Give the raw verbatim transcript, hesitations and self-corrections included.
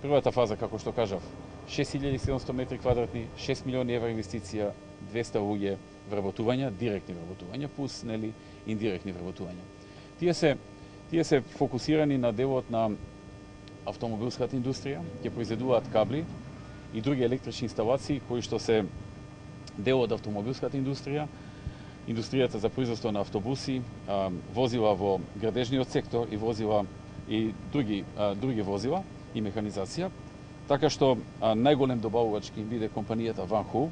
Првата фаза, како што кажав, шест илјади и седумстотини метри квадратни, шест милиони евра инвестиција, двесте луѓе вработувања, директни вработувања, плюс нели индиректни вработувања. Тие се тие се фокусирани на делот на автомобилската индустрија, ќе произведуваат кабли и други електрични инсталации кои што се дел од автомобилската индустрија, индустријата за производство на автобуси, возила во градежниот сектор и возила и други други возила и механизација, така што најголем добавувач ќе биде компанијата Ван Хул,